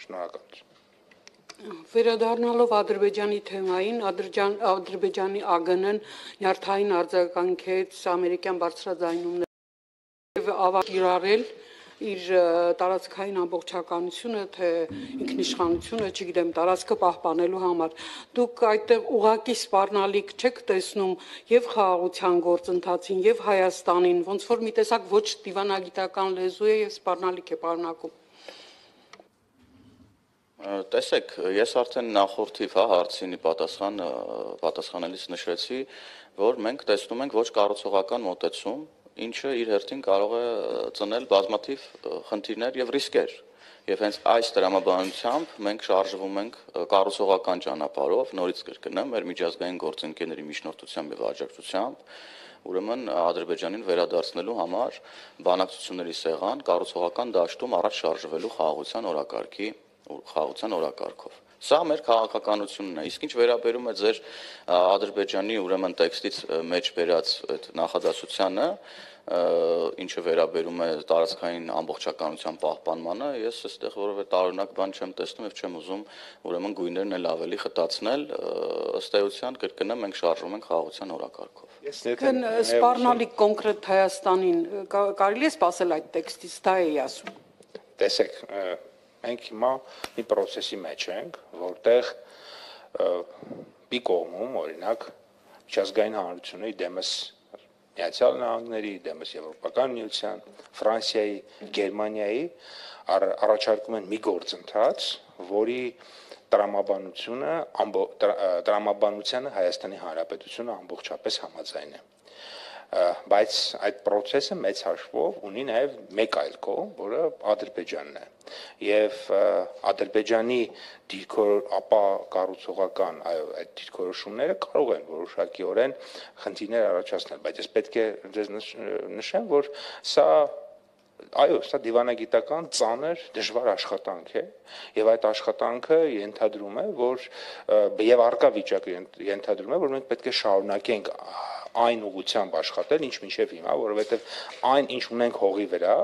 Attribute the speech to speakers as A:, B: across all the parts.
A: Շնորհակալություն։
B: Վերադառնալով Ադրբեջանի թեմային, Ադրբեջանի ԱԳՆ-ն նյարդային արձագանքեց ամերիկյան բարձրաձայնումներ եւ ավարտել իր տարածքային ամբողջականությունը, թե ինքնիշխանությունը, չգիտեմ, տարածքը պահպանելու համար։ Դուք այդտեղ ուղակի սպառնալիք չեք տեսնում եւ խաղաղության գործընթացին եւ Հայաստանին, ոնց որ մի տեսակ ոչ դիվանագիտական լեզու է եւ սպառնալիք է պարունակում։
C: Տեսեք, ես արդեն նախորդիվ հարցինի պատասխանելիս նշեցի, որ մենք տեսնում ենք ոչ կառուցողական մոտեցում, ինչը իր հերթին կարող է ծնել բազմաթիվ խնդիրներ եւ ռիսկեր։ Եվ հենց այս տրամաբանությամբ մենք շարժվում ենք կառուցողական ճանապարհով, նորից կրկնեմ, մեր միջազգային գործընկերների միջնորդությամբ եւ աջակցությամբ, ուրեմն Ադրբեջանին վերադարձնելու համար բանակցությունների սեղան կառուցողական դաշտում առաջ շարժվելու խաղաղության օրակարգով։ Սա մեր քաղաքականությունն է, իսկ ինչ վերաբերում է ձեր Ադրբեջանի ուրեմն տեքստից մեջ բերած այդ նախադասությանը, ինչը վերաբերում է տարածքային ամբողջականության պահպանմանը, ես այստեղ որևէ տարօրինակ բան չեմ տեսնում եւ չեմ ուզում ուրեմն գույներն էլ ավելի խտացնել, ըստ էության կրկնեմ, մենք շարժվում ենք խաղաղության օրակարգով։
B: Սպառնալիք կոնկրետ Հայաստանին կարելի է սպասել այդ տեքստից, դա էի ասում։
A: Տեսեք, մենք հիմա մի process-ի մեջ ենք, որտեղ մի կողմում, օրինակ, միջազգային հանրությունների դեմս Միացյալ Նահանգների, դեմս Եվրոպական միության, Ֆրանսիայի, Գերմանիայի առաջարկում են մի գործընթաց, որի տրամաբանությանը Հայաստանի Հանրապետությունը ամբողջապես համաձայն է։ Բայց այդ process-ը մեծ հաշվով ունի նաև մեկ այլ կողմ, որը Ադրբեջանն է։ Եվ Ադրբեջանի ապա կառուցողական այդ դիրքորոշումները կարող են որոշակիորեն խնդիրներ առաջացնել, բայց ես պետք է ձեզ նշեմ, որ սա դիվանագիտական ծանր դժվար աշխատանք է եւ այդ աշխատանքը ենթադրում է, որ եւ առկա վիճակը ենթադրում է, որ մենք պետք է շարունակենք այն ուղղությամբ աշխատել, ինչ մինչև հիմա, որովհետև այն, ինչ ունենք հողի վրա,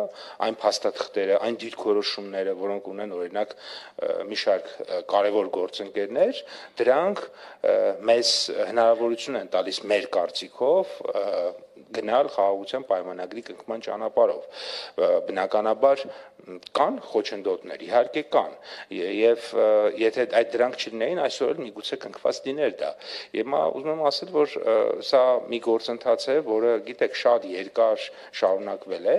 A: այն փաստաթղթերը, այն դիրքորոշումները, որոնք ունեն օրինակ մի շարք կարևոր գործընկերներ, դրանք մեզ հնարավորություն են տալիս մեր կարծիքով գնալ խաղաղության պայմանագրի կնքման ճանապարհով։ Բնականաբար կան խոչընդոտներ, իհարկե կան, եւ եթե այդ դրանք չլինեին, այսօր միգուցե կնքված լիներ դա։ Եվ ուզում եմ ասել, որ սա մի գործընթաց է, որը գիտեք շատ երկար շարունակվել է,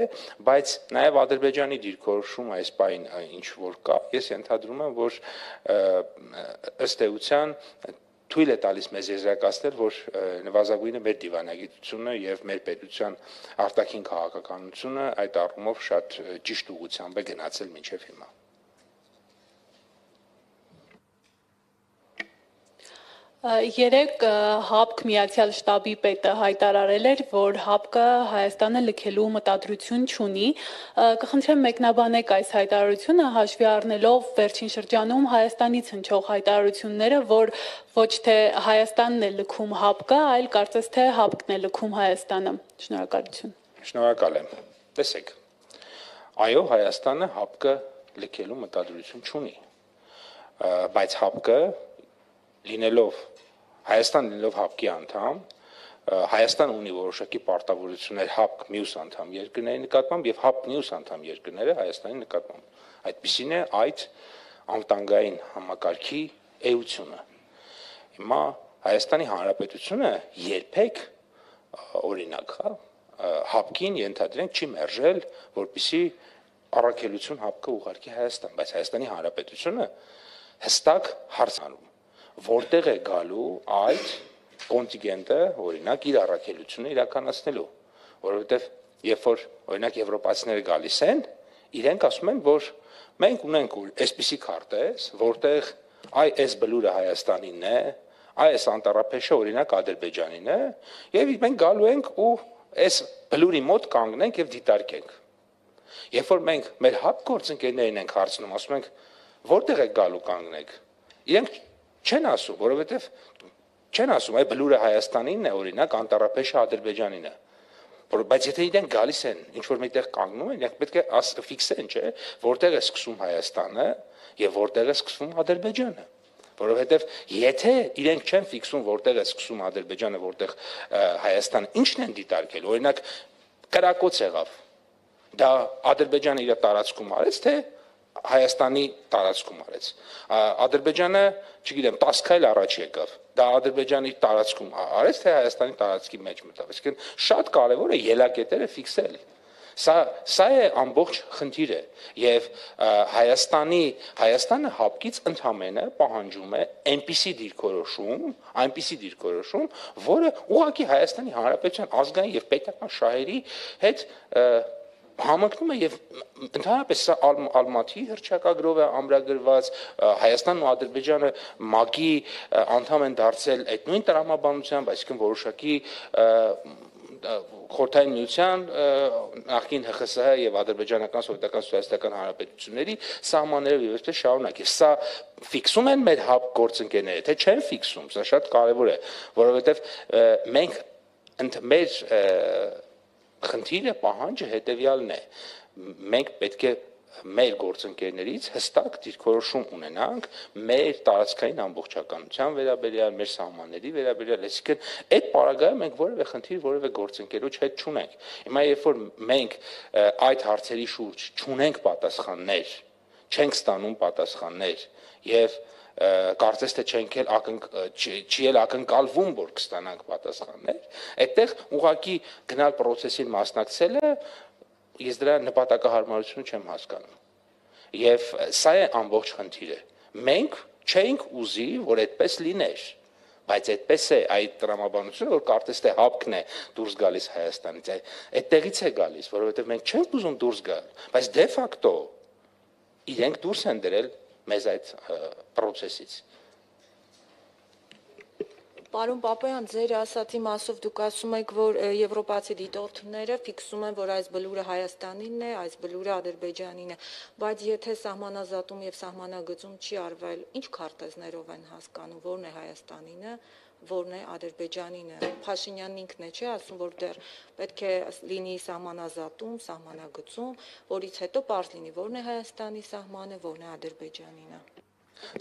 A: բայց նաև Ադրբեջանի դիրքորոշումը այս պահին ինչ որ կա, ես ենթադրում եմ, որ ըստ էության թույլ է տալիս մեզ եզրակացնել, որ նվազագույնը մեր դիվանագիտությունը եւ մեր պետության արտաքին քաղաքականությունը այդ առումով շատ ճիշտ ուղղությամբ է գնացել մինչեւ հիմա։
D: Երեք ՀԱՊԿ Միացյալ շտաբի պետը հայտարարել էր, որ ՀԱՊԿ-ը Հայաստանը լքելու մտադրություն չունի։ Կխնդրեմ մեկնաբանեք այս հայտարարությունը, հաշվի առնելով վերջին շրջանում Հայաստանից հնչող հայտարարությունները, որ ոչ թե Հայաստանն է լքում ՀԱՊԿ-ը, այլ կարծես թե ՀԱՊԿ-ն է լքում Հայաստանը։ Շնորհակալություն։
A: Շնորհակալ եմ։ Տեսեք, այո, Հայաստանը ՀԱՊԿ-ը լքելու մտադրություն չունի, բայց ՀԱՊԿ-ը լինելով Հայաստան լինելով ՀԱՊԿ-ի անդամ, Հայաստանը ունի որոշակի պարտավորություններ ՀԱՊԿ մյուս անդամ երկրների նկատմամբ եւ ՀԱՊԿ մյուս անդամ երկրները Հայաստանի նկատմամբ։ Այդպիսին է այդ անվտանգային համակարգի էությունը։ Հիմա Հայաստանի Հանրապետությունը երբեք օրինակ, ՀԱՊԿ-ին ենթադրենք չի մերժել, որպեսզի առաքելություն ՀԱՊԿ-ը ուղարկի Հայաստան, բայց Հայաստանի Հանրապետությունը հստակ հարցանում որտեղ է գալու այդ կոնտինգենտը, օրինակ, իր առաքելությունը իրականացնելու, որովհետև երբ որ օրինակ եվրոպացիները գալիս են, իրենք ասում են, որ մենք ունենք այսպիսի քարտեզ, որտեղ այս բլուրը Հայաստանինն է, այս անտառափեշը օրինակ Ադրբեջանին է, եւ մենք գալու ենք ու այս բլուրի մոտ կանգնենք եւ դիտարկենք։ Երբ որ մենք մեր ՀԱՊԿ գործընկերներին ենք հարցնում, ասում ենք, որտեղ եք գալու կանգնեք, իրենք չեն ասում, որովհետև չեն ասում, այ բլուրը Հայաստանինն է, օրինակ, անտառափեշը Ադրբեջանին է։ Բայց եթե իրենք գալիս են, ինչ որ մեկտեղ կանգնում են, իրենք պետք է ֆիքսեն, չէ, որտեղ է սկսում Հայաստանը եւ որտեղ է սկսվում Ադրբեջանը։ Որովհետեւ եթե իրենք չեն ֆիքսում, որտեղ է սկսում Ադրբեջանը, որտեղ Հայաստանը, ինչն են դիտարկել, օրինակ կրակոց եղավ։ Դա Ադրբեջանը իր տարածքում արեց, թե Հայաստանի տարածքում արեց։ Ադրբեջանը, չգիտեմ, 10 քայլ առաջ եկավ։ Դա Ադրբեջանի տարածքում արեց, թե Հայաստանի տարածքի մեջ մտավ։ Այսինքն շատ կարևոր է ելակետերը ֆիքսել։ Սա է ամբողջ խնդիրը եւ Հայաստանը հապկից ընդամենը պահանջում է այնպիսի դիրքորոշում, որը ուղղակի Հայաստանի Հանրապետության ազգային եւ պետական շահերի հետ համընկնում է եւ ընդհանրապես սա Ալմատի հռչակագրով է ամրագրված, Հայաստանն ու Ադրբեջանը ՄԱԿ-ի անդամ են դարձել այդ նույն տրամաբանությամբ, այսինքն որոշակի Խորհրդային Միության նախկին ՀԽՍՀ եւ ադրբեջանական սովետական սոցիալիստական հանրապետությունների սահմաններով եւ այսպես շարունակ։ Սա ֆիքսում են մեր հապ գործընկերները, թե չեն ֆիքսում, սա շատ կարեւոր է, որովհետեւ մենք մեր խնդիրը պահանջը հետեւյալն է։ Մենք պետք է մեր գործընկերներից հստակ դիրքորոշում ունենանք մեր տարածքային ամբողջականության վերաբերյալ, մեր սահմանների վերաբերյալ, այսինքն այդ պարագայում մենք որևէ խնդիր, որևէ գործընկերոջ հետ չունենք։ Հիմա երբ որ մենք այդ հարցերի շուրջ չունենք պատասխաններ, չենք ստանում պատասխաններ եւ կարծես թե չի էլ ակնկալվում, որ կստանանք պատասխաններ, այդտեղ ուղղակի գնալ process-ին մասնակցելը ես դրա նպատակահարմարությունը չեմ հասկանում։ Եվ սա է ամբողջ խնդիրը։ Մենք չենք ուզի, որ այդպես լիներ, բայց այդպես է այդ տրամաբանությունը, որ կարծես թե հապկն է դուրս գալիս Հայաստանից, այդտեղից է գալիս, որովհետև մենք չենք ուզում դուրս գալ, բայց դե ֆակտո իրենք դուրս են դրել մեզ այդ process-ից։
E: Պարոն Պապայան, ձեր ասացի մասով դուք ասում եք, որ եվրոպացի դիտորդները ֆիքսում են, որ այս բլուրը Հայաստանինն է, այս բլուրը Ադրբեջանին է, բայց եթե սահմանազատում եւ սահմանագծում չի արվել, ինչ քարտեզներով են հասկանում, որն է Հայաստանինը, որն է Ադրբեջանինը։ Փաշինյանն ինքն է, չէ, ասում, որ դեռ պետք է լինի սահմանազատում, սահմանագծում, որից հետո պարզ լինի, որն է Հայաստանի սահմանը, որն է Ադրբեջանինը։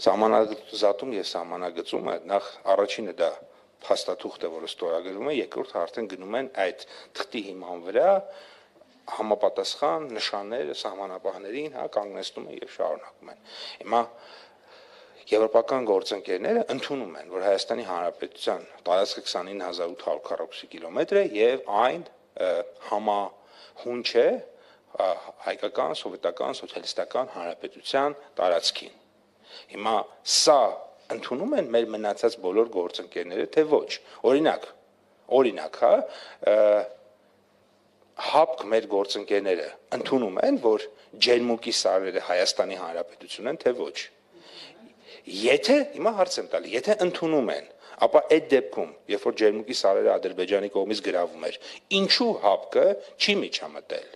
A: Սահմանազատում եւ սահմանագծումը նախ առաջինը դա փաստաթուղթ է, որը ստորագրվում է, երկրորդը արդեն գնում են այդ թղթի հիման վրա համապատասխան նշանները սահմանապահներին, կանգնեցնում են եւ շարունակում են։ Հիմա եվրոպական գործընկերները ընդունում են, որ Հայաստանի Հանրապետության տարածքը 29840 կիլոմետր է եւ այն համահունչ է հայկական, սովետական, սոցիալիստական հանրապետության տարածքին։ Հիմա սա ընդունում են մեր մնացած բոլոր գործընկերները, թե ոչ։ Օրինակ, հապկ մեր գործընկերները ընդունում են, որ ջերմուկի սարերը Հայաստանի Հանրապետություն են, թե ոչ։ Հիմա հարց եմ տալի, եթե ընդունում են, ապա այդ դեպքում, երբ որ ջերմուկի սարերը Ադրբեջանի կողմից գրավում էր, ինչու հապկը չի միջամտել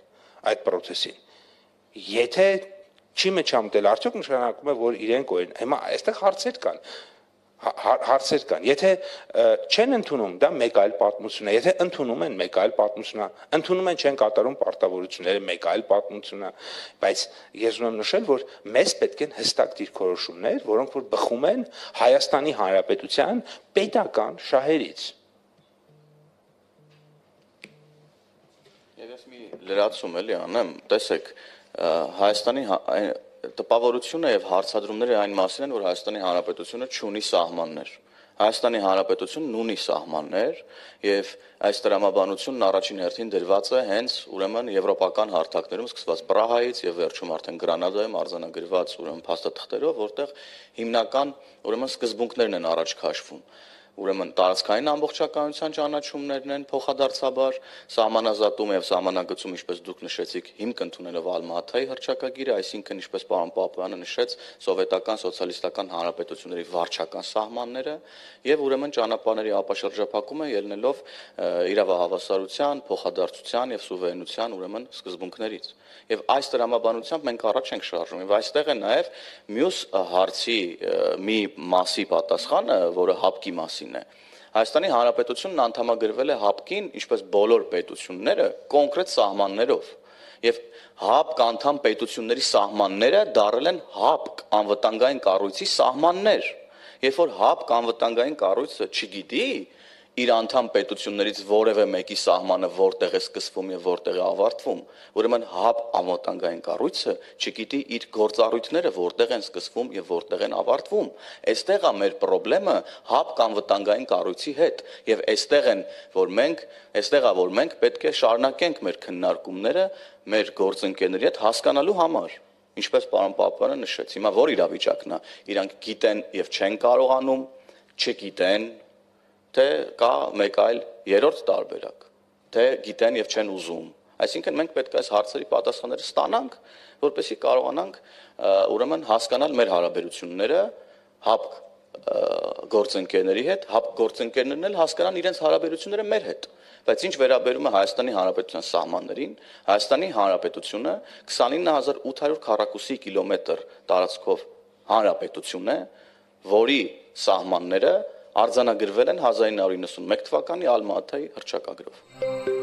A: այդ process-ին։ Եթե չի միջամտել, արդյոք նշանակում է, որ իրենք օրեն, հիմա այստեղ հարցեր կան, եթե չեն ընդունում, դա մեկ այլ պատմություն է, եթե ընդունում են, մեկ այլ պատմություն է, ընդունում են, չեն կատարում պարտավորությունները, մեկ այլ պատմություն է, բայց ես ուզում եմ նշել, որ մեզ պետք են հստակ դիրքորոշումներ, որոնք որ բխում են Հայաստանի Հանրապետության պետական շահերից։
C: Եվ ես մի լրացում էլի անեմ, տեսեք, Հայաստանի տպավորությունը եւ հարցադրումները այն մասին են, որ Հայաստանի Հանրապետությունը չունի սահմաններ։ Հայաստանի Հանրապետությունն ունի սահմաններ եւ այս տրամաբանությունն առաջին հերթին դրված է հենց ուրեմն եվրոպական հարթակներում սկսված Պրահայից եւ վերջում արդեն Գրանադայում արձանագրված ուրեմն փաստաթղթերով, որտեղ հիմնական ուրեմն սկզբունքներն են առաջ քաշվում։ Ուրեմն տարածքային ամբողջականության ճանաչումներն են փոխադարձաբար, սահմանազատում եւ սահմանագծում, ինչպես դուք նշեցիք, հիմք ընդունելով Ալմատայի հռչակագիրը, այսինքն ինչպես պարոն Պապայանը նշեց, սովետական սոցիալիստական հանրապետությունների վարչական սահմանները եւ ուրեմն ճանապարհների ապաշրջափակումը ելնելով իրավահավասարության, փոխադարձության եւ սուվերենության ուրեմն սկզբունքներից։ Եվ այս տրամաբանությամբ մենք առաջ ենք շարժում եւ այստեղ է նաեւ մյուս հարցի մի մասի պատասխանը, որը հապկի մասին է։ Հայաստանի Հանրապետությունն անդամագրվել է ՀԱՊԿ-ին, ինչպես բոլոր պետությունները, կոնկրետ սահմաններով։ Եվ ՀԱՊԿ անդամ պետությունների սահմանները դարել են ՀԱՊԿ անվտանգային կառույցի սահմաններ։ Երբ որ ՀԱՊԿ անվտանգային կառույցը չգիտի իր անդամ պետություններից որևէ մեկի սահմանը որտեղ է սկսվում եւ որտեղ է ավարտվում, ուրեմն ՀԱՊԿ անվտանգային կառույցը չգիտի իր գործառույթները որտեղ են սկսվում եւ որտեղ են ավարտվում։ Այստեղ է մեր խնդրեմը ՀԱՊԿ անվտանգային կառույցի հետ եւ այստեղ է որ մենք պետք է շարունակենք մեր քննարկումները մեր գործընկերների հետ հասկանալու համար։ Ինչպես պարոն Պապյանը նշեց, հիմա որ իրավիճակն է, իրանք գիտեն եւ չեն կարողանում, չգիտեն, թե կա մեկ այլ երրորդ տարբերակ, թե գիտեն եւ չեն ուզում։ Այսինքն մենք պետք է այս հարցերի պատասխանները ստանանք, որպեսզի կարողանանք ուրեմն հասկանալ մեր հարաբերությունները ՀԱՊԿ գործընկերների հետ, ՀԱՊԿ գործընկերներն էլ հասկանան իրենց հարաբերությունները մեր հետ։ Բայց ինչ վերաբերում է Հայաստանի Հանրապետության սահմաններին, Հայաստանի Հանրապետությունը 29800 քառակուսի կիլոմետր տարածքով հանրապետություն է, որի սահմանները արձանագրվել են 1991 թվականի Ալմա-Աթայի հռչակագրով։